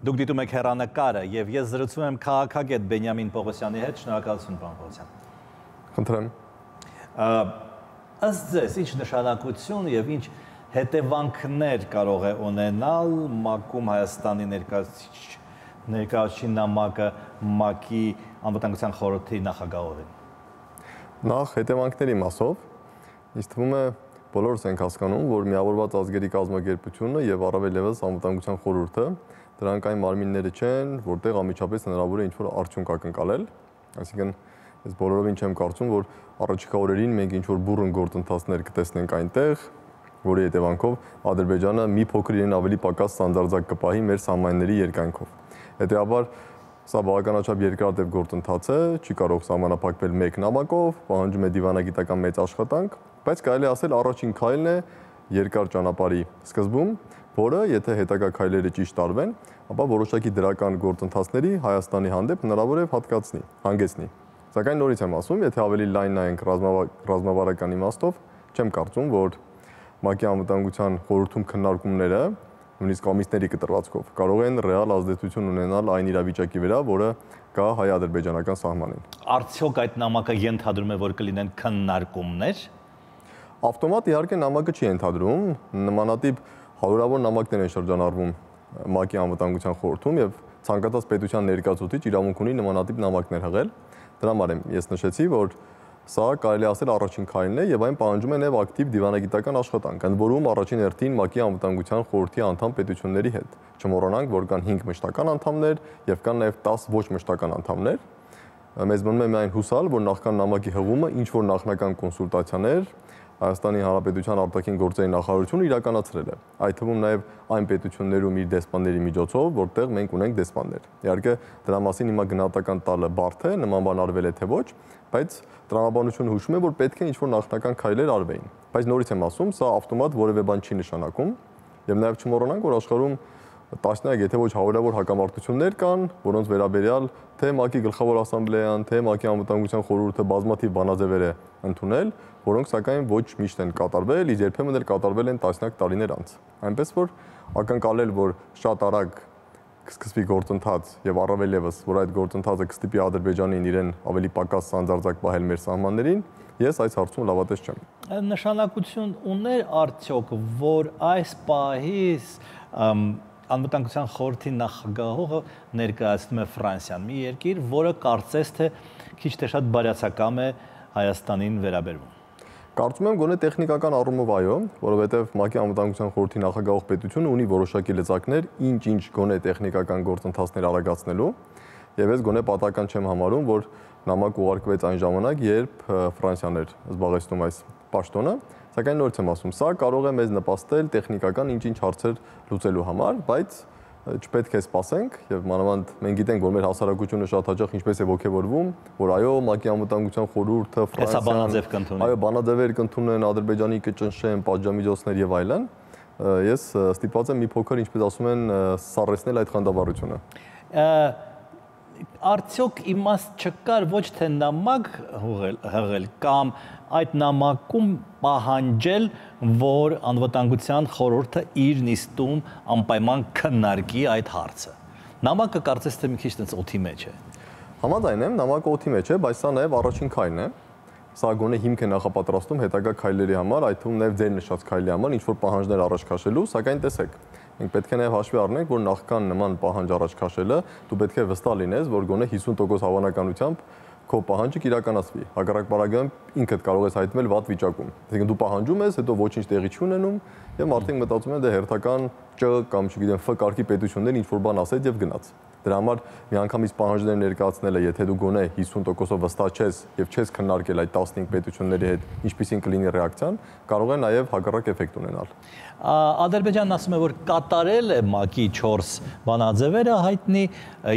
Դուք դիտում եք հեռանկարը եւ ես զրուցում եմ քաղաքագետ Բենյամին Պողոսյանի հետ, շնորհակալություն պարոն Պողոսյան։ Խնդրեմ։ Ըստ ձեզ ինչ նշանակություն եւ ինչ հետևանքներ կարող է ունենալ ՄԱԿ-ում Հայաստանի ներկայացուցիչ նամակը ՄԱԿ-ի անվտանգության խորհրդի նախագահողին։ Նախ հետևանքների մասով ինձ թվում է բոլորս ենք հասկանում, որ Միավորված ազգերի կազմակերպությունը եւ առավել եւս անվտանգության խորհուրդը դրանք այն մարմինները չեն, որտեղ անմիջապես հնարավոր է ինչ-որ արդյունք ակնկալել, այսինքն ես բոլորովին չեմ կարծում, որ առաջիկա օրերին մենք ինչ-որ բուռն գործընթացներ կտեսնենք այնտեղ, որի հետևանքով Ադրբեջանը մի փոքր իրեն ավելի պակաս սանձարձակ կպահի մեր սահմանների երկայնքով։ Հետեւաբար սա բավականաչափ երկարատև գործընթաց է, չի կարող սահմանափակվել մեկ նամակով, պահանջում է դիվանագիտական մեծ աշխատանք, բայց կարելի ասել առաջին քայլն է երկար ճանապարհի սկզբում, որը եթե հետագա քայլերը ճիշտ արվեն, ապա որոշակի դրական գործընթացների Հայաստանի հանդեպ հնարավոր է հանգեցնի։ Սակայն նորից եմ ասում, եթե ավելի լայն նայենք ռազմավարական իմաստով, չեմ կարծում, որ ՄԱԿ-ի անվտանգության խորհրդում քննարկումները, նույնիսկ ամիսների կտրվածքով, կարող են ռեալ ազդեցություն ունենալ այն իրավիճակի վրա, որը կա հայ-ադրբեջանական սահմանին։ Արդյոք այդ նամակը ենթադրում է, որ կլինեն քննարկումներ։ Ավտոմատ իհարկե նամակը չի ենթադրում, նմանատիպ հարյուրավոր նամակներ են շրջանառվում ՄԱԿ-ի անվտանգության խորհրդում եւ ցանկացած պետության ներկայացուցիչ իրավունք ունի նմանատիպ նամակներ հղել։ Դրա համար ես նշեցի, որ սա կարելի ասել առաջին քայլն է եւ այն պահանջում է նաեւ ակտիվ դիվանագիտական աշխատանք, ընդ որում առաջին հերթին ՄԱԿ-ի անվտանգության խորհրդի անդամ պետությունների հետ։ Չմոռանանք, որ կան 5 մշտական անդամներ եւ կան նաեւ 10 ոչ մշտական անդամներ։ Մեզ մնում է միայն հուսալ, որ նախքան նամակի հղումը ինչ որ նախնական կոնսուլտացիաներ Հայաստանի Հանրապետության արտաքին գործերի նախարարությունը իրականացրել է։ Այդ թվում նաև այն պետություններում իր դեսպանների միջոցով, որտեղ մենք ունենք դեսպաններ։ Իհարկե դրա մասին հիմա գնահատական տալը բարդ է, նման բան արվել է թե ոչ, բայց տրամաբանությունը հուշում է, որ պետք է ինչ-որ նախնական քայլեր արվեին։ Բայց նորից եմ ասում, սա ավտոմատ որևէ բան չի նշանակում, եւ նաև չմոռանանք, որ աշխարհում տասնյակ, եթե ոչ հարյուրավոր հակամարտություններ կան, որոնց վերաբերյալ թե ՄԱԿ-ի գլխավոր ասամբլեան, թե ՄԱԿ-ի անվտանգության խորհուրդը բազմաթիվ բանաձևեր է ընդունել, որոնք սակայն ոչ միշտ են կատարվել, իսկ երբեմն էլ կատարվել են տասնյակ տարիներ անց։ Այնպես որ ակնկալել, որ շատ արագ կսկսվի գործընթաց եւ առավել եւս, որ այդ գործընթացը կստիպի Ադրբեջանին իրեն ավելի պակաս սանձարձակ պահել մեր սահմաններին, ես այս հարցում լավատես չեմ։ Նշանակություն ուներ արդյոք, որ այս պահից անվտանգության խորհրդի նախագահողը ներկայացնում է Ֆրանսիան, մի երկիր, որը կարծես թե քիչ թե շատ բարյացակամ է Հայաստանին վերաբերվում։ Կարծում եմ գոնե տեխնիկական առումով այո, որովհետև ՄԱԿ-ի անվտանգության խորհրդի նախագահող պետությունը ունի որոշակի լծակներ, ինչ գոնե տեխնիկական գործընթացներ արագացնելու, եւ ես գոնե պատահական չեմ համարում, որ նամակ ուղարկվեց այն ժամանակ, երբ Ֆրանսիան էր զբաղեցնում այս պաշտոնը, սակայն նորից եմ ասում, սա կարող է մեզ նպաստել տեխնիկական ինչ-ինչ հարցեր լուծելու համար, բայց չպետք է սպասենք եւ մանավանդ մենք գիտենք, որ մեր հասարակությունը շատ հաճախ ինչպես է ողջևորվում, որ այո, ՄԱԿ-ի անվտանգության խորհուրդը Ֆրանսիան, այո, բանաձևեր կընդունեն, Ադրբեջանի կճնշեն, պատժամիջոցներ եւ այլն, ես ստիպված եմ մի փոքր, ինչպես ասում են, սառեցնել այդ խանդավառությունը։ Արդյոք իմաստ չկար ոչ թե նամակ հղել կամ այդ նամակում պահանջել, որ անվտանգության խորհուրդը իր նիստում անպայման քննարկի այդ հարցը։ Նամակը կարծես թե մի քիչ տենց օդի մեջ է։ Համաձայն եմ, նամակը օդի մեջ է, բայց սա նաև առաջին քայլն է։ Սա գոնե հիմք է նախապատրաստում հետագա քայլերի համար, այդ թվում նաև ձեր նշած քայլի համար, ինչ որ պահանջներ առաջ քաշելու, սակայն տեսեք, մենք պետք է նաև հաշվի առնենք, որ նախքան նման պահանջ առաջ քաշելը, դու պետք է վստահ լինես, որ գոնե 50% հավանականությամբ քո պահանջը կիրականացվի։ Հակառակ պարագայում ինքդ կարող ես հայտնվել վատ վիճակում։ Այսինքն դու պահանջում ես, հետո ոչինչ տեղի չունենում, եւ մարդիկ մտածում են դե հերթական Չ կամ չգիտեմ Ֆ կարգի պետություններ ինչ որ բան ասեց եւ գնաց։ Դրա համար միանգամից պահանջներ ներկայացնելը, եթե դու գոնե 50%-ով վստահ չես եւ չես քննարկել այդ 15 պետությունների հետ, ինչպիսին կլինի ռեակցիան, կարող է նաեւ հակառակ էֆեկտ ունենալ։ Ադրբեջանն ասում է, որ կատարել է ՄԱԿ-ի 4 բանաձևերը հայտնի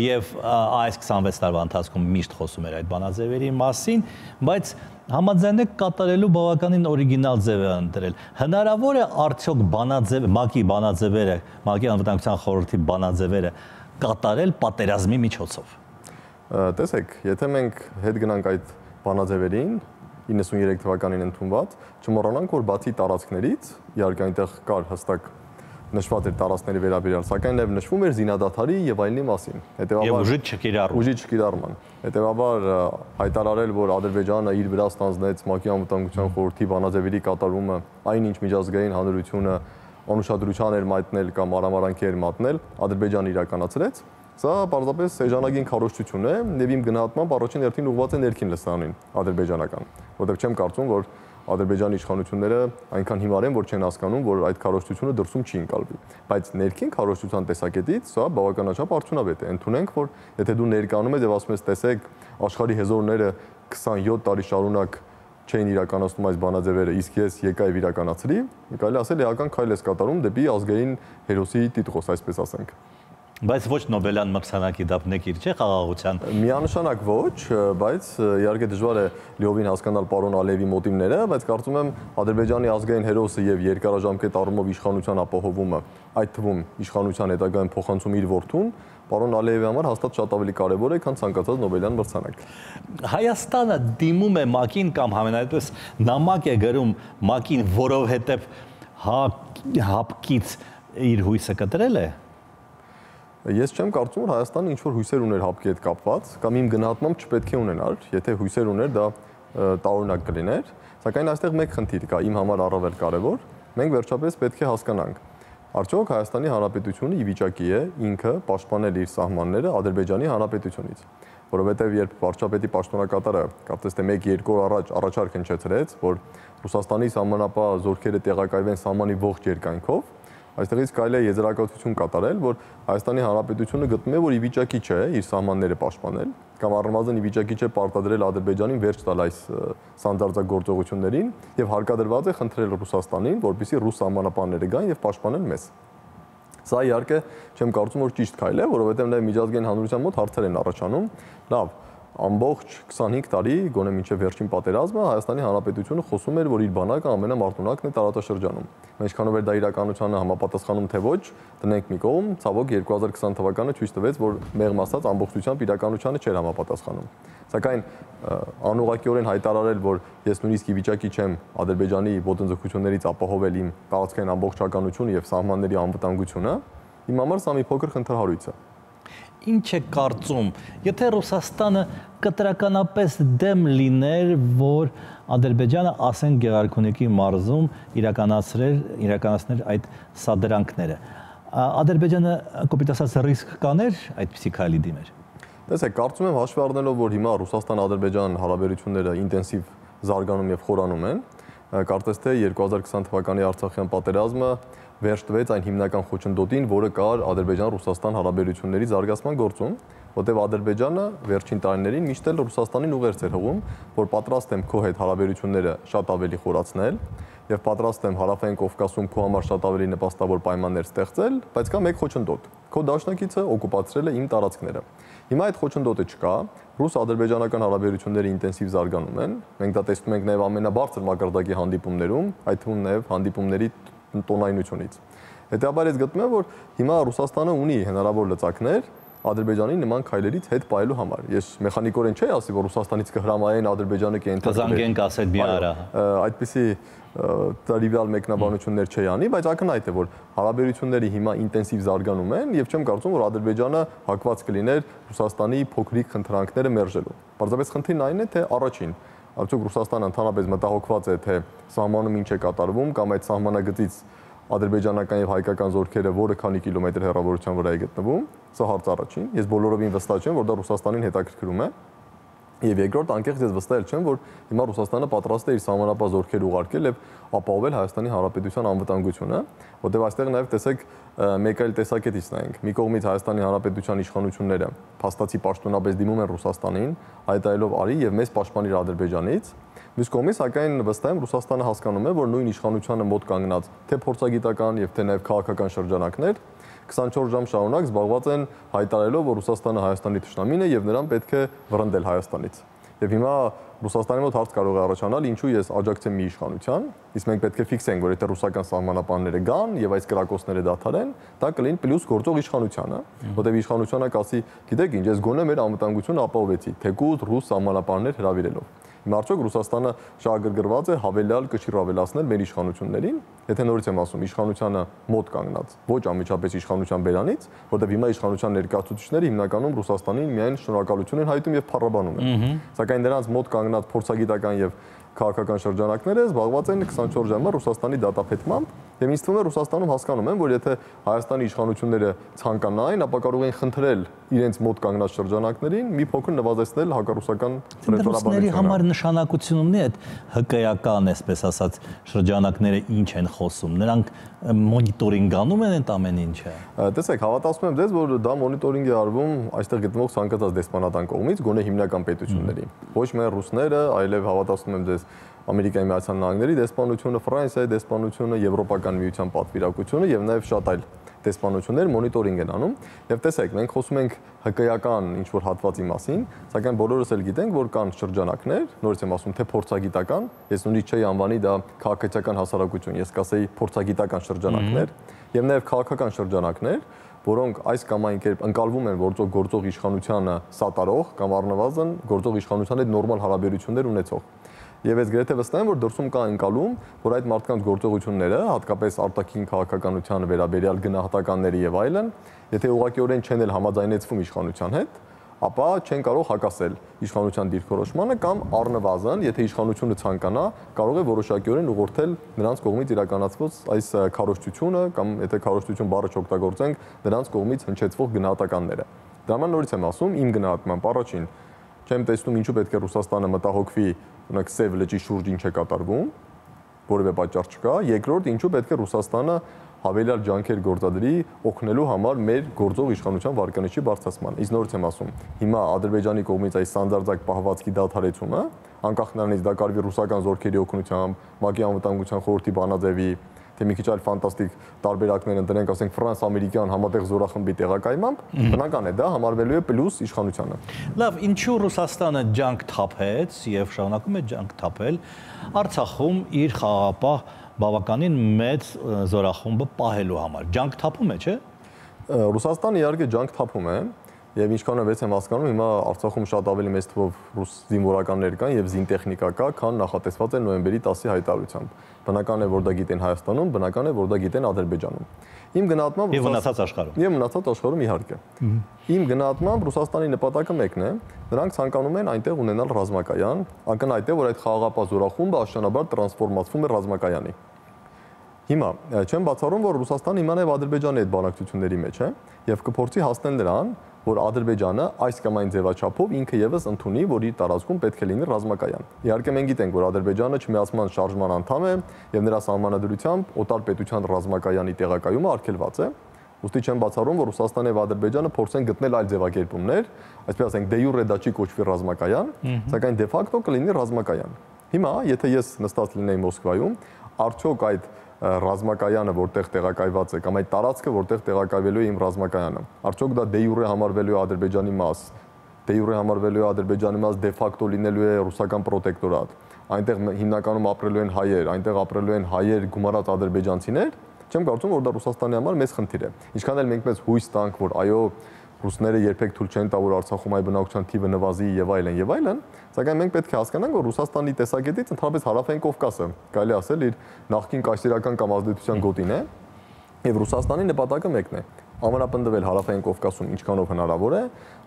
եւ այս 26 տարվա ընթացքում միշտ խոսում էր այդ բանաձևերի մասին, բայց համաձայն եք կատարելու բավականին օրիգինալ ձև է ընտրել։ Հնարավոր է արդյոք ՄԱԿ-ի բանաձևերը, ՄԱԿ-ի անվտանգության խորհրդի բանաձևերը կատարել պատերազմի միջոցով։ Տեսեք, եթե մենք հետ գնանք այդ բանաձևերին 93 թվականին ընդունված, չմոռանանք, որ բացի տարածքներից, իհարկե այնտեղ կար հստակ նշված էր տարածքների վերաբերյալ, սակայն նաև նշվում էր զինադադարի եւ այլնի մասին։ Եվ ուժի չկիրառման։ Հետևաբար հայտարարել, որ Ադրբեջանը իր վրա ստանձնեց ՄԱԿ-ի անվտանգության խորհրդի բանաձևերի կատարումը, այնինչ միջազգային հանրությունը անուշադրության էր մատնել կամ արամարանքի էր մատնել, Ադրբեջանը իրականացրեց։ Սա պարզապես էժանագին քարոզչություն է եւ իմ գնահատմամբ առաջին հերթին ուղղված է ներքին լսարանին ադրբեջանական, որտեղ չեմ կարծում, որ Ադրբեջանի իշխանությունները այնքան հիմար են, որ չեն հասկանում, որ այդ քարոզչությունը դրսում չի ընկալվի։ Բայց ներքին քարոզչության տեսակետից սա բավականաչափ արդյունավետ է։ Ընդունենք, որ եթե դու ներկայանում ես եւ ասում ես, տեսեք, աշխարհի հեզորները 27 տարի շարունակ չէին իրականացնում այս բանաձևերը, իսկ ես եկա եւ իրականացրի, կարելի ասել էական քայլ ես կատարում դեպի ազգային հերոսի տիտղոս, այսպես ասենք։ Բայց ոչ Նոբելյան մրցանակի դափնեկիր չէ խաղաղության։ Միանշանակ ոչ, բայց իհարկե դժվար է լիովին հասկանալ պարոն Ալիևի մոտիվները, բայց կարծում եմ Ադրբեջանի ազգային հերոսը եւ երկարաժամկետ առումով իշխանության ապահովումը, այդ թվում իշխանության հետագայում փոխանցում իր որդուն, պարոն Ալիևի համար հաստատ շատ ավելի կարևոր է, քան ցանկացած Նոբելյան մրցանակ։ Հայաստանը դիմում է ՄԱԿ-ին կամ համենայնպես նամակ է գրում ՄԱԿ-ին, որովհետեւ հապկից իր հույսը կտրել է։ Ես չեմ կարծում, որ Հայաստանը ինչ-որ հույսեր ուներ հապկի հետ կապված, կամ իմ գնահատմամբ չպետք է ունենար, եթե հույսեր ուներ, դա տարօրինակ կլիներ, սակայն այստեղ մեկ խնդիր կա, իմ համար առավել կարևոր, մենք վերջապես պետք է հասկանանք, արդյոք Հայաստանի Հանրապետությունը ի վիճակի է ինքը պաշտպանել իր սահմանները Ադրբեջանի Հանրապետությունից, որովհետև երբ վարչապետի պաշտոնակատարը, կարծես թե 1-2 օր առաջ առաջարկ հնչեցրեց, որ Ռուսաստանի սահմանապահ զորքերը տեղակայվեն սահմանի ողջ երկայնքով, այստեղից կարելի է եզրակացություն կատարել, որ Հայաստանի Հանրապետությունը գտնում է, որ ի վիճակի չէ իր սահմանները պաշտպանել, կամ առնվազն ի վիճակի չէ պարտադրել Ադրբեջանին վերջ տալ այս սանձարձակագործողություններին եւ հարկադրված է խնդրել Ռուսաստանին, որպեսզի ռուս սահմանապահները գան եւ պաշտպանեն մեզ։ Սա իհարկե չեմ կարծում, որ ճիշտ քայլ է, որովհետեւ նաեւ միջազգային հանրության մոտ հարցեր են առաջանում։ Լավ, ամբողջ 25 տարի, գոնե մինչև վերջին պատերազմը Հայաստանի Հանրապետությունը խոսում էր, որ իր բանակը ամենամարտունակն է տարածաշրջանում։ Ինչքանով էր դա իրականությանը համապատասխանում թե ոչ, տնենք մի կողմ, ցավոք 2020 թվականը ցույց տվեց, որ մեղմ ասած ամբողջությամբ իրականությանը չէր համապատասխանում։ Սակայն անուղղակիորեն հայտարարել, որ ես նույնիսկ ի վիճակի չեմ Ադրբեջանի ոտնձգություններից ապահովել իմ տարածքային ամբողջականությունը եւ սահմանների անվտանգությունը, իմ համար սա մի փոքր խնդրահարույց է։ Ինչ է կարծում, եթե Ռուսաստանը կտրականապես դեմ լիներ, որ Ադրբեջանը ասեն Գեղարքունիքի մարզում իրականացներ այդ սադրանքները, Ադրբեջանը կոպիտ ասած ռիսկ կաներ այդպիսի քայլի դիմեր։ Տեսեք, կարծում եմ հաշվի առնելով, որ հիմա Ռուսաստան-Ադրբեջան հարաբերությունները ինտենսիվ զարգանում եւ խորանում են, կարծես թե 2020 թվականի Արցախյան պատերազմը վերջ տվեց այն հիմնական խոչընդոտին, որը կար Ադրբեջան-Ռուսաստան հարաբերությունների զարգացման գործում, որտեղ Ադրբեջանը վերջին տարիներին միշտ էլ Ռուսաստանին ուղերձ էր հղում, որ պատրաստ եմ քո հետ հարաբերությունները շատ ավելի խորացնել եւ պատրաստ եմ Հարավային Կովկասում քո համար շատ ավելի նպաստավոր պայմաններ ստեղծել, բայց կա մեկ խոչընդոտ։ Քո դաշնակիցը օկուպացրել է իմ տարածքները։ Հիմա այդ խոչընդոտը չկա, ռուս-ադրբեջանական հարաբերությունները ինտենսիվ զարգանում են։ Մենք դա տեսնում ենք նաև ամենաբարձր մակարդակի հանդիպումներում, այդ թվում նաև հանդիպումների տոնայնությունից։ Հետեւաբար ես գտնում եմ, որ հիմա Ռուսաստանը ունի հնարավոր լծակներ Ադրբեջանի նման քայլերից հետ պահելու համար։ Ես մեխանիկորեն չէի ասի, որ Ռուսաստանից կհրամայեն Ադրբեջանը կզանգենք ասել մի արա։ Այդպիսի տրիվիալ մեկնաբանություններ չի անի, բայց ակնհայտ է, որ հարաբերությունները հիմա ինտենսիվ զարգանում են եւ չեմ կարծում, որ Ադրբեջանը հակված կլիներ Ռուսաստանի փոքրիկ խնդրանքները մերժելու։ Պարզապես խնդիրն այն է, թե առաջին, արդյոք Ռուսաստանը ընդհանրապես մտահոգված է, թե սահմանում ինչ է կատարվում կամ այդ սահմանագծից ադրբեջանական եւ հայկական զորքերը որը քանի կիլոմետր հեռավորության վրա է գտնվում, սա հարց առաջին։ Ես բոլորովին վստահ չեմ, որ դա Ռուսաստանին հետաքրքրում է։ Եվ երկրորդ, անկեղծ ես վստահ չեմ, որ հիմա Ռուսաստանը պատրաստ է իր սահմանապահ զորքեր ուղարկել եւ ապահովել Հայաստանի Հանրապետության անվտանգությունը, որտեղ այստեղ նաեւ տեսեք մեկ այլ տեսակետից նայենք։ Մի կողմից Հայաստանի Հանրապետության իշխանությունները փաստացի պաշտոնապես դիմում են Ռուսաստանին, հայտարարելով արի եւ մեզ պաշտպանիր Ադրբեջանից։ Մյուս կողմից, սակայն վստահ եմ Ռուսաստանը հասկանում է, որ նույն իշխանությանը մոտ կանգնած թե փորձագիտական եւ թե նաեւ քաղաքական շրջանակներ 24 ժամ շարունակ զբաղված են հայտարարելով, որ Ռուսաստանը Հայաստանի թշնամին է եւ նրան պետք է վռնդել Հայաստանից։ Եվ հիմա Ռուսաստանի մոտ հարց կարող է առաջանալ, ինչու ես աջակցեմ մի իշխանության, իսկ մենք պետք է ֆիքսենք, որ եթե ռուսական սահմանապահները գան եւ այս կրակոցները դադարեն, դա կլինի պլյուս գործող իշխանությանը, որտեղ իշխանությունը կասի, գիտեք ինչ, ես գոնե մեր անվտանգությունը ապահովեցի, թեկուզ ռուս սահմանապահներ հրավիրելով։ Հիմա արդյոք Ռուսաստանը շահագրգռված է հավելյալ կշիռ ավելացնել մեր իշխանություններին, եթե նորից եմ ասում, իշխանությանը մոտ կանգնած, ոչ անմիջապես իշխանության բերանից, որտեղ հիմա իշխանության ներկայացուցիչները հիմնականում Ռուսաստանին միայն շնորհակալություն են հայտում եւ փառաբանում են։ Սակայն նրանց մոտ կանգնած փորձագիտական եւ քաղաքական շրջանակները զբաղված են 24 ժամը Ռուսաստանի դատապետմամբ եւ ինձ թվում է Ռուսաստանում հասկանում են, որ եթե Հայաստանի իշխանությունները ցանկանային, ապա կարող են խնդրել իրենց մոտ կանգնած շրջանակներին մի փոքր նվազեցնել հակառուսական ռետորաբանությունը։ Համար նշանակություն ունի այդ հկայական, այսպես ասած, շրջանակները ինչ են խոսում։ Նրանք մոնիտորինգ անում են այդ ամեն ինչը։ Տեսեք, հավատացնում եմ ձեզ, որ դա մոնիտորինգ է արվում այստեղ գտնվող ցանկացած դեսպանատան կողմից, գոնե հիմնական պետությունների։ Ոչ միայն ռուսները, այլև հավատացնում եմ ձեզ Ամերիկայի Միացյալ Նահանգների դեսպանությունը, Ֆրանսիայի դեսպանությունը, Եվրոպական միության պատվիրակությունը եւ նաեւ շատ այլ դեսպանություններ մոնիտորինգ են անում եւ տեսեք, մենք խոսում ենք հկայական ինչ որ հատվածի մասին, սակայն բոլորս էլ գիտենք, որ կան շրջանակներ, նորից եմ ասում, թե փորձագիտական, ես նույնիսկ չէի անվանի դա քաղաքացիական հասարակություն, ես կասեի փորձագիտական շրջանակներ եւ նաեւ քաղաքական շրջանակներ, որոնք այս կամ այն կերպ ընկալվում են գործող իշխանությանը սատարող կամ առնվազն գործող իշխանության հետ նորմալ հարաբերություններ ունեցող։ Եվ ես գրեթե վստահ եմ, որ դրսում կա ընկալում, որ այդ մարդկանց գործողությունները, հատկապես արտաքին քաղաքականությանը վերաբերյալ գնահատականների եւ այլն, եթե ուղղակիորեն չեն էլ համաձայնեցվում իշխանության հետ, ապա չեն կարող հակասել իշխանության դիրքորոշմանը կամ առնվազն, եթե իշխանությունը ցանկանա, կարող է որոշակիորեն ուղղորդել նրանց կողմից իրականացված այս քարոզչությունը կամ եթե քարոզչություն բառը չօգտագործենք, նրանց կողմից հնչեցվող գնահատականները։ Դա ման նորից եմ ասում, իմ գնահատմամբ առաջին չեմ տեսնում ինչու պետք է Ռուսաստանը մտահոգվի, օրինակ Սև լճի շուրջ ինչ է կատարվում, որևէ պատճառ չկա։ Երկրորդ, ինչու պետք է Ռուսաստանը հավելյալ ջանքեր գործադրի օգնելու համար մեր գործող իշխանության վարկանիշի բարձրացման։ Իսկ նորից եմ ասում, հիմա Ադրբեջանի կողմից այս սանդարձակ պահվածքի դադարեցումը, անկախ նրանից դա կարվի ռուսական զորքերի օգնությամբ, ՄԱԿ-ի անվտանգության խորհրդի բանաձևի, թե մի քիչ այլ ֆանտաստիկ տարբերակներ ընտրենք, ասենք ֆրանս-ամերիկյան համատեղ զորախմբի տեղակայմամբ, բնական է դա համարվելու է պլյուս իշխանությանը։ Լավ, ինչու Ռուսաստանը ջանք թափեց եւ շարունակում է ջանք թափել Արցախում իր խաղաղապահ բավականին մեծ զորախումբը պահելու համար։ Ջանք թափում է, չէ՞։ Ռուսաստանը իհարկե ջանք թափում է եւ ինչքան եմ հասկանում, հիմա Արցախում շատ ավելի մեծ թվով ռուս զինվորականներ կան եւ զինտեխնիկա կա, քան նախատեսված է նոյեմբերի 10-ի հայտարարությամբ։ Բնական է, որ դա գիտեն Հայաստանում, բնական է, որ դա գիտեն Ադրբեջանում։ Իմ գնահատմամբ եւ մնացած աշխարհում։ Եվ մնացած աշխարհում իհարկե։ Իմ գնահատմամբ Ռուսաստանի նպատակը մեկն է, նրանք ցանկանում են այնտեղ ունենալ ռազմակայան, ակնհայտ է, որ այդ խաղաղապահ զորախումբը աշնանաբար տրանսֆորմացվում է ռազմակայանի։ Հիմա չեմ բացառում, որ Ռուսաստանը հիմա նաև Ադրբեջանի հետ բանակցությունների մեջ է եւ կփորձի հասնել նրան, որ Ադրբեջանը այս կամ այն ձևաչափով ինքը եւս ընդունի, որ իր տարածքում պետք է լինի ռազմակայան։ Իհարկե մենք գիտենք, որ Ադրբեջանը չմիացման շարժման անդամ է եւ նրա սահմանադրությամբ օտար պետության ռազմակայանի տեղակայումը արգելված է։ Ուստի չեմ բացառում, որ Ռուսաստանը եւ Ադրբեջանը փորձեն գտնել այլ ձևակերպումներ, այսպես ասենք, դե յուրե դա չի կոչվի ռազմակայան, սակայն դե ֆակտո կլինի ռազմակայան։ Հիմա, եթե ես նստած լինեի Մոսկվայում, արդյոք այդ ռազմակայանը, որտեղ տեղակայված է, կամ այդ տարածքը, որտեղ տեղակայվելու է իմ ռազմակայանը, արդյոք դա դե յուրե համարվելու է Ադրբեջանի մաս, դե յուրե համարվելու է Ադրբեջանի մաս, դե ֆակտո լինելու է ռուսական պրոտեկտորատ, այնտեղ հիմնականում ապրելու են հայեր, այնտեղ ապրելու են հայեր գումարած ադրբեջանցիներ, չեմ կարծում, որ դա Ռուսաստանի համար մեծ խնդիր է։ Ինչքան էլ մենք մեծ հույս տանք, որ այո, ռուսները երբեք թույլ չեն տա, որ Արցախում այ բնակչության թիվը նվազի եւ այլն, սակայն մենք պետք է հասկանանք, որ Ռուսաստանի տեսակետից ընդհանրապես Հարավային Կովկասը, կարելի ասել, իր նախկին կայսերական կամ ազդեցության գոտին է, եւ Ռուսաստանի նպատակը մեկն է՝ ամրապնդվել Հարավային Կովկասում ինչքանով հնարավոր է,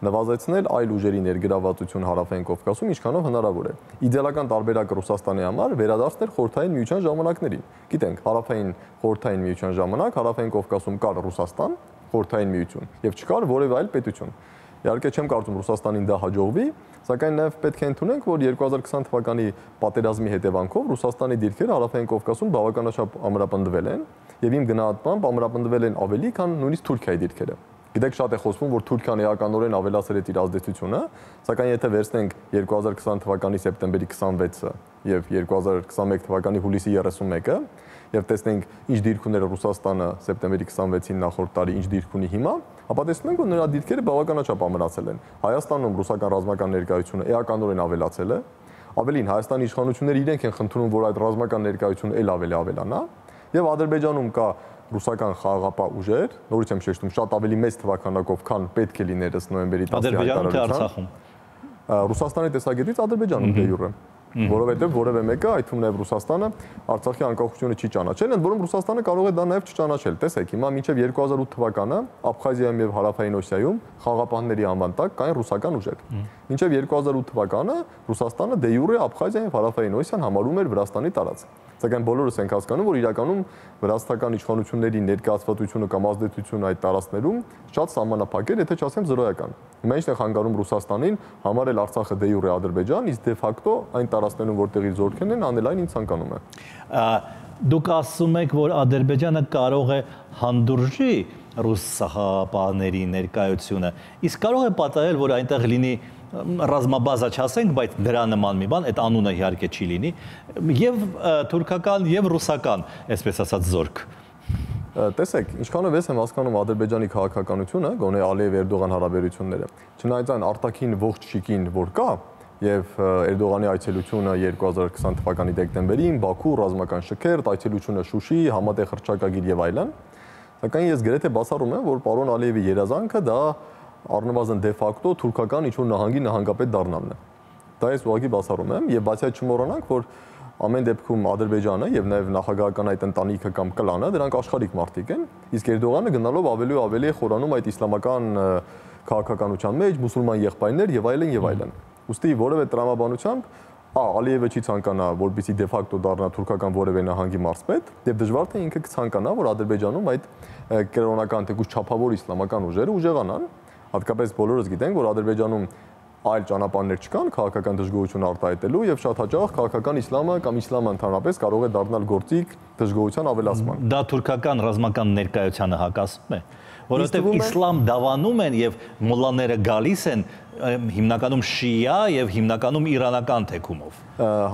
նվազեցնել այլ ուժերի ներգրավվածություն Հարավային Կովկասում ինչքանով հնարավոր է։ Իդեալական տարբերակը Ռուսաստանի համար վերադարձնել Խորհրդային Միության ժամանակներին։ Գիտենք, Հարավային Խորհրդային Միության ժամանակ Հարավային Կովկասում կար Ռուսաստան, Խորհրդային Միություն եւ չկար որևէ այլ պետություն։ Իհարկե չեմ կարծում Ռուսաստանին դա հաջողվի, սակայն նաեւ պետք է ընդունենք, որ 2020 թվականի պատերազմի հետևանքով Ռուսաստանի դիրքերը Հարավային Կովկասում բավականաչափ ամրապնդվել են եւ իմ գնահատմամբ ամրապնդվել են ավելի, քան նույնիսկ Թուրքիայի դիրքերը։ Գիտեք, շատ է խոսվում, որ Թուրքիան էականորեն ավելացել է իր ազդեցությունը, սակայն եթե վերցնենք 2020 թվականի սեպտեմբերի 26-ը եւ 2021 թվականի հուլիսի 31-ը եւ տեսնենք ինչ դիրք ուներ Ռուսաստանը սեպտեմբերի 26-ին նախորդ տարի, ինչ դիրք ունի հիմա, ապա տեսնում ենք, որ նրա դիրքերը բավականաչափ ամրացել են։ Հայաստանում ռուսական ռազմական ներկայությունը էականորեն ավելացել է։ Ավելին, Հայաստանի իշխանությունները իրենք են խնդրում, որ այդ ռազմական ներկայությունը ել ավելի ավելանա, եւ Ադրբեջանում կա ռուսական խաղաղապահ ուժեր, նորից եմ շեշտում, շատ ավելի մեծ թվականակով, քան պետք է լիներ ըստ նոյեմբերի 10-ի հայտարարության։ Ադրբեջանում թե Արցախում։ Ռուսաստանի տեսակետից Ադրբեջանում դե յուրե։ որովհետև որևէ մեկը, այդ թվում նաև Ռուսաստանը, Արցախի անկախությունը չի ճանաչել, ընդ որում Ռուսաստանը կարող է դա նաև չճանաչել։ Տեսեք, հիմա մինչև 2008 թվականը Աբխազիայում եւ Հարավային Օսիայում խաղապահների անվան տակ կային ռուսական ուժեր։ Մինչև 2008 թվականը Ռուսաստանը դե յուրե Աբխազիան եւ Հարավային Օսիան համարում էր Վրաստանի տարածք։ Սակայն բոլորս ենք հասկանում, որ իրականում վրաստական իշխանությունների ներկայացվածությունը կամ ազդեցությունը այդ տարածքներում շատ սահմանափակ էր, եթե չասեմ զրոյական։ Հիմա ինչն է խանգարում Ռուսաստանին համարել Արցախը դե յուրե Ադրբեջան, իսկ դե ֆակտո այն տարածքներում, որտեղ իր զորքերն են, անել այն ինչ ցանկանում է։ Դուք ասում եք, որ Ադրբեջանը կարող է հանդուրժի ռուս սահապաների ներկայությունը, իսկ կարող է պատահել, որ այնտեղ լինի ռազմաբազա չասենք, բայց դրա նման մի բան, այդ անունը իհարկե չի լինի, եւ թուրքական եւ ռուսական, այսպես ասած, զորք։ Տեսեք, ինչքանով ես եմ հասկանում Ադրբեջանի քաղաքականությունը, գոնե Ալիև-Էրդողան հարաբերությունները, չնայած այն արտաքին ողջ շիկին, որ կա, եւ Էրդողանի այցելությունը 2020 թվականի դեկտեմբերին, Բաքու, ռազմական շքերթ, այցելությունը Շուշի, համատեղ հռչակագիր եւ այլն, սակայն ես գրեթե բացառում եմ, որ պարոն Ալիևի երազանքը դա առնվազն դե ֆակտո թուրքական ինչ-որ նահանգի նահանգապետ դառնալն է։ Դա ես ուղղակի բացառում եմ եւ բացի այդ չմոռանանք, որ ամեն դեպքում Ադրբեջանը եւ նաեւ նախագահական այդ ընտանիքը կամ կլանը դրանք աշխարհիկ մարդիկ են, իսկ Էրդողանը գնալով ավելի ու ավելի է խորանում այդ իսլամական քաղաքականության մեջ, մուսուլման եղբայրներ եւ այլն եւ այլն։ Ոստի որևէ տրամաբանությամբ Ալիևը չի ցանկանա, որպեսզի դե ֆակտո դառնա թուրքական որևէ նահանգի մարզպետ, եւ դժվար թե ինքը կցանկանա, որ Ադրբեջանում այդ կրոնական թեկուզ չափավոր իսլամական ուժերը ուժեղանան, հատկապես բոլորս գիտենք, որ Ադրբեջանում այլ ճանապարհներ չկան քաղաքական դժգոհություն արտահայտելու եւ շատ հաճախ քաղաքական իսլամը կամ իսլամը ընդհանրապես կարող է դառնալ գործիք դժգոհության ավելացման։ Դա թուրքական ռազմական ներկայությանը հակասում է, որովհետեւ իսլամ դավանում են եւ մոլլաները գալիս են հիմնականում շիա եւ հիմնականում իրանական թեկումով։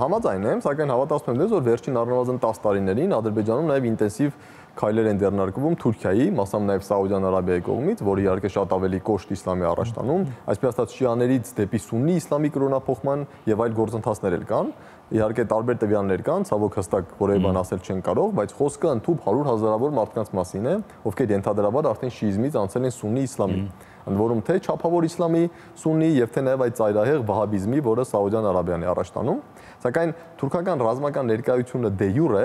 Համաձայն եմ, սակայն հավատացում եմ, որ վերջին առնվազն 10 տարիներին Ադրբեջանում նաեւ ինտենսիվ քայլեր են ձեռնարկվում Թուրքիայի, մասամբ նաև Սաուդյան Արաբիայի կողմից, որը իհարկե շատ ավելի կոշտ իսլամի առաջ տանում, այսպես ասած շիաներից դեպի սուննի իսլամի կրոնափոխման եւ այլ գործընթացներ էլ կան։ Իհարկե տարբեր տվյալներ կան, ցավոք հստակ որևէ բան ասել չեն կարող, բայց խոսքը ընդհանուր 100 հազարավոր մարդկանց մասին է, ովքեր ենթադրաբար արդեն շիիզմից անցել են սուննի իսլամի։ Ընդ որում թե չափավոր իսլամի սուննի եւ թե նաև այդ ծայրահեղ վահաբիզմի, որը Սաուդյան Արաբիան է առաջ տանում, սակայն թուրքական ռազմական ներկայությունը դե յուրե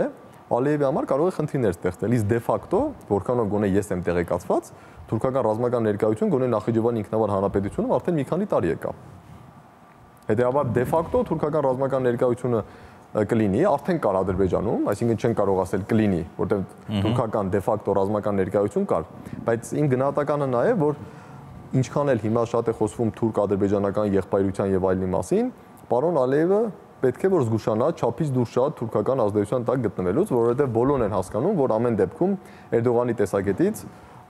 Ալիևի համար կարող է խնդիրներ ստեղծել, իսկ դե ֆակտո, որքանով գոնե ես եմ տեղեկացված, թուրքական ռազմական ներկայություն գոնե Նախիջևանի ինքնավար հանրապետությունում արդեն մի քանի տարի եկա։ Հետևաբար դե ֆակտո թուրքական ռազմական ներկայությունը կլինի, արդեն կար Ադրբեջանում, այսինքն չեն կարող ասել կլինի, որտեղ թուրքական դե ֆակտո ռազմական ներկայություն կար, բայց իմ գնահատականը նա է, որ ինչքան էլ հիմա շատ է խոսվում թուրք-ադրբեջանական եղբայրության եւ այլնի մասին, պարոն Ալիևը պետք է որ զգուշանա չափից դուրս շատ թուրքական ազդեցության տակ գտնվելուց, որովհետև բոլորն են հասկանում, որ ամեն դեպքում Էրդողանի տեսակետից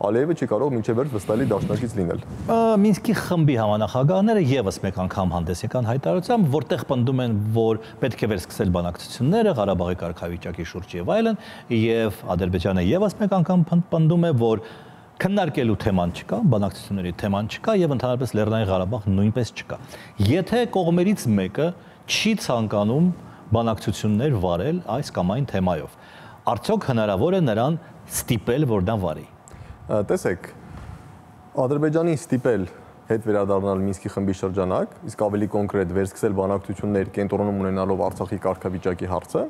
Ալիևը չի կարող մինչև վերջ վստահելի դաշնակից լինել։ Մինսկի խմբի համանախագահները եւս մեկ անգամ հանդես եկան հայտարարությամբ, որտեղ պնդում են, որ պետք է վերսկսել բանակցությունները Ղարաբաղի կարգավիճակի շուրջ եւ այլն, եւ Ադրբեջանը եւս մեկ անգամ պնդում է, որ քննարկելու թեման չկա, բանակցությունների թեման չկա եւ ընդհանրապես Լեռնային Ղարաբաղ նույնպես չկա։ Եթե կողմերից մեկը չի ցանկանում բանակցություններ վարել այս կամ այն թեմայով, արդյոք հնարավոր է նրան ստիպել, որ դա վարի։ Տեսեք, Ադրբեջանի ստիպել հետ վերադառնալ Մինսկի խմբի շրջանակ, իսկ ավելի կոնկրետ վերսկսել բանակցություններ կենտրոնում ունենալով Արցախի կարգավիճակի հարցը,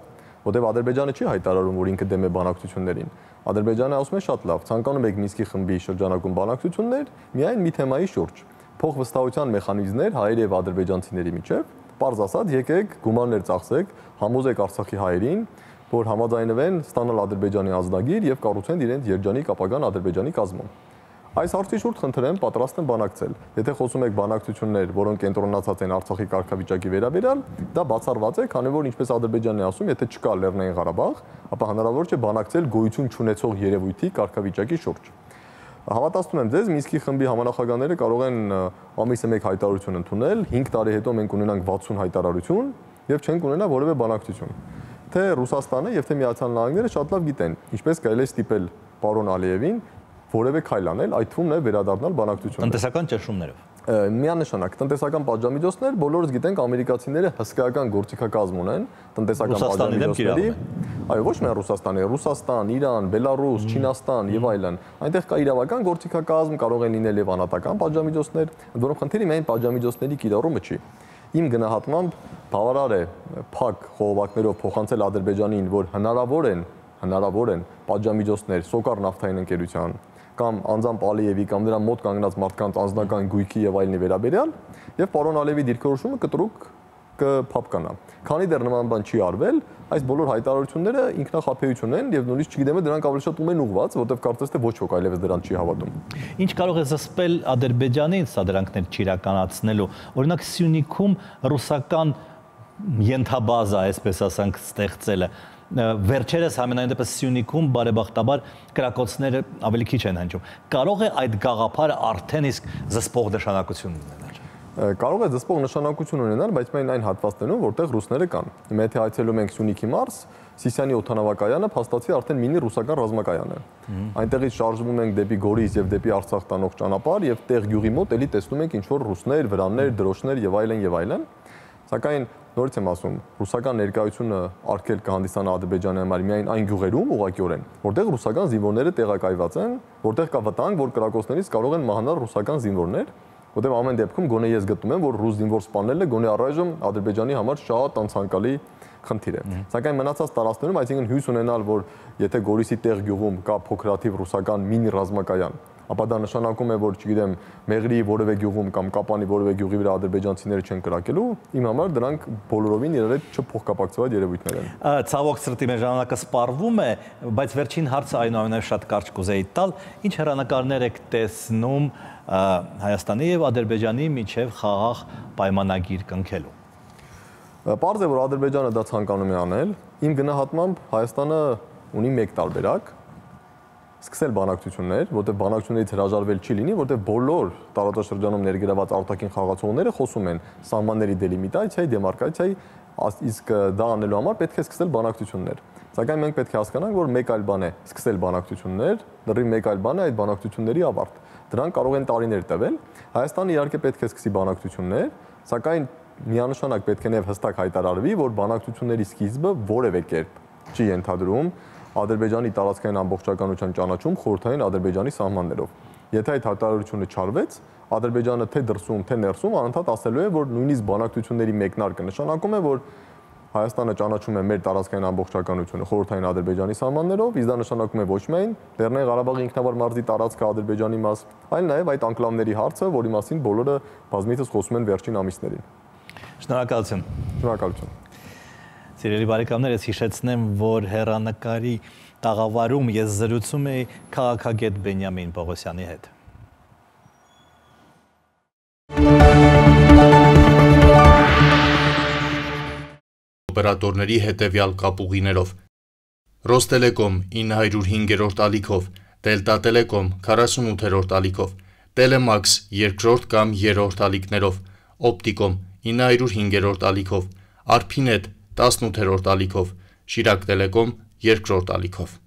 որտեղ Ադրբեջանը չի հայտարարում, որ ինքը դեմ է բանակցություններին։ Ադրբեջանը ասում է շատ լավ, ցանկանում եք Մինսկի խմբի շրջանակում բանակցություններ, միայն մի թեմայի շուրջ, փոխվստահության մեխանիզմներ հայերի եւ ադրբեջանցիների միջեւ, պարզ ասած, եկեք գումարներ ծախսեք, համոզեք Արցախի հայերին, որ համաձայնվեն ստանալ Ադրբեջանի ազգագիր եւ կառուցեն իրենց երջանիկ ապագան Ադրբեջանի կազմում։ Այս հարցի շուրջ խնդրեմ պատրաստ եմ բանակցել։ Եթե խոսում եք բանակցություններ, որոնք կենտրոնացած են Արցախի կարգավիճակի վերաբերյալ, դա բացառված է, քանի որ ինչպես Ադրբեջանն է ասում, եթե չկա Լեռնային Ղարաբաղ, ապա հնարավոր չէ բանակցել գոյություն չունեցող երևույթի կարգավիճակի շուրջ։ Հավատացնում եմ ձեզ, Մինսկի խմբի համանախագահները կարող են ամիսը մեկ հայտարարություն ընդունել, 5 տարի հետո մենք ունենանք 60 հայտարարություն եւ չենք ունենա որևէ բանակցություն։ Թե Ռուսաստանը եւ թե Միացյալ Նահանգները շատ լավ գիտեն, ինչպես կարելի է ստիպել պարոն Ալիևին որևէ քայլ անել, այդ թվում նաև վերադառնալ բանակցություններին։ Տնտեսական ճնշումներով։ Միանշանակ տնտեսական պատժամիջոցներ, բոլորս գիտենք ամերիկացիները հսկայական գործիքակազմ ունեն տնտեսական պատժամիջոցների։ Այո, ոչ միայն Ռուսաստանի, Ռուսաստան, Իրան, Բելարուս, Չինաստան եւ այլն։ Այնտեղ կա իրավական գործիքակազմ, կարող են լինել եւ անհատական պատժամիջոցներ, որոնք խնդիրը միայն պատժամիջոցների կիրառումը չի։ Իմ գնահատմամբ բավարար է փակ խողովակներով փոխանցել Ադրբեջանին, որ հնարավոր են պատժամիջոցներ Սոկար նավթային ընկերության կամ անձամբ Ալիևի կամ նրա մոտ կանգնած մարդկանց անձնական գույքի եւ այլնի վերաբերյալ, եւ պարոն Ալիևի դիրքորոշումը կտրուկ կփապկանա։ Քանի դեռ նման բան չի արվել, այս բոլոր հայտարարությունները ինքնախաբեություն են եւ նույնիսկ չգիտեմ դրանք ավելի շատ ում են ուղված, որտեղ կարծես թե ոչ ոք այլևս դրան չի հավատում։ Ինչ կարող է զսպել Ադրբեջանին սադրանքներ չիրականացնելու։ Օրինակ Սյունիքում ռուսական ենթաբազա, այսպես ասենք, ստեղծելը վերջերս համենայն դեպս Սյունիքում բարեբախտաբար կրակոցները ավելի քիչ են հնչում։ Կարող է այդ գաղափարը արդեն իսկ զսպող նշանակություն ունենալ։ Կարող է զսպող նշանակություն ունենալ, բայց միայն այն հատվածներում, որտեղ ռուսները կան։ Հիմա եթե այցելում ենք Սյունիքի մարզ, Սիսիանի օդանավակայանը փաստացի արդեն մինի ռուսական ռազմակայան է։ Այնտեղից շարժվում ենք դեպի Գորիս եւ դեպի Արցախ տանող ճանապարհ եւ տեղ գյուղի մոտ էլի տեսնում ենք ինչ որ ռուսներ, վրաններ, դրոշներ եւ այլն։ Սակայն նորից եմ ասում, ռուսական ներկայությունը արգել կհանդիսանա Ադրբեջանի համար միայն այն գյուղերում ուղղակիորեն, որտեղ ռուսական զինվորները տեղակայված են, որտեղ կա վտանգ, որ կրակոցներից կարող են մահանալ ռուսական զինվորներ, որտեղ ամեն դեպքում գոնե ես գտնում եմ, որ ռուս զինվոր սպանելը գոնե առայժմ Ադրբեջանի համար շատ անցանկալի խնդիր է։ Սակայն մնացած տարածքներում, այսինքն հույս ունենալ, որ եթե Գորիսի տեղ գյուղում կա փոքրաթիվ ռուսական մինի ռազմակայան, ապա դա նշանակում է, որ չգիտեմ, Մեղրի որևէ գյուղում կամ Կապանի որևէ գյուղի վրա ադրբեջանցիները չեն կրակելու, իմ համար դրանք բոլորովին իրար հետ չփոխկապակցված երևույթներ են։ Ցավոք սրտի մեր ժամանակը սպառվում է, բայց վերջին հարցը այնուամենայնիվ շատ կարճ կուզեի տալ, ինչ հեռանկարներ եք տեսնում Հայաստանի եւ Ադրբեջանի միջև խաղաղ պայմանագիր կնքելու։ Պարզ է, որ Ադրբեջանը դա ցանկանում է անել։ Իմ գնահատմամբ Հայաստանը ունի մեկ տարբերակ՝ սկսել բանակցություններ, որտեղ բանակցություններից հրաժարվել չի լինի, որտեղ բոլոր տարածաշրջանում ներգրաված արտաքին խաղացողները խոսում են սահմանների դելիմիտացիայի, դեմարկացիայի, իսկ դա անելու համար պետք է սկսել բանակցություններ։ Սակայն մենք պետք է հասկանանք, որ մեկ այլ բան է սկսել բանակցություններ, դեռ մեկ այլ բան է այդ բանակցությունների ավարտ։ Դրանք կարող են տարիներ տևել։ Հայաստանը իհարկե պետք է սկսի բանակցություններ, սակայն միանշանակ պետք է նաև հստակ հայտարարվի, որ բանակցությունների սկիզբը որևէ կերպ չի ենթադրում Ադրբեջանի տարածքային ամբողջականության ճանաչում խորհրդային Ադրբեջանի սահմաններով։ Եթե այդ հայտարարությունը չարվեց, Ադրբեջանը թե դրսում, թե ներսում անընդհատ ասելու է, որ նույնիսկ բանակցությունների մեկնարկը նշանակում է, որ Հայաստանը ճանաչում է մեր տարածքային ամբողջականությունը խորհրդային Ադրբեջանի սահմաններով, իսկ դա նշանակում է ոչ միայն Լեռնային Ղարաբաղի ինքնավար մարզի տարածքը Ադրբեջանի մաս, այլ նաև այդ անկլավների հարցը, որի մասին բոլորը բազմիցս խոսում են վերջին ամիսներին։ Շնորհակալություն։ Շնորհակալություն։ Սիրելի բարեկամներ, ես հիշեցնեմ, որ հեռանկարի տաղավարում ես զրուցում էի քաղաքագետ Բենյամին Պողոսյանի հետ։ Օպերատորների հետևյալ կապուղիներով Ռոստելեկոմ 905-րդ ալիքով, Դելտա Տելեկոմ 48-րդ ալիքով, Տելեմաքս 2-րդ կամ 3-րդ ալիքներով, Օպտիկոմ 905-րդ ալիքով, Արփինետ 18-րդ ալիքով, Շիրակ Տելեկոմ 2-րդ ալիքով։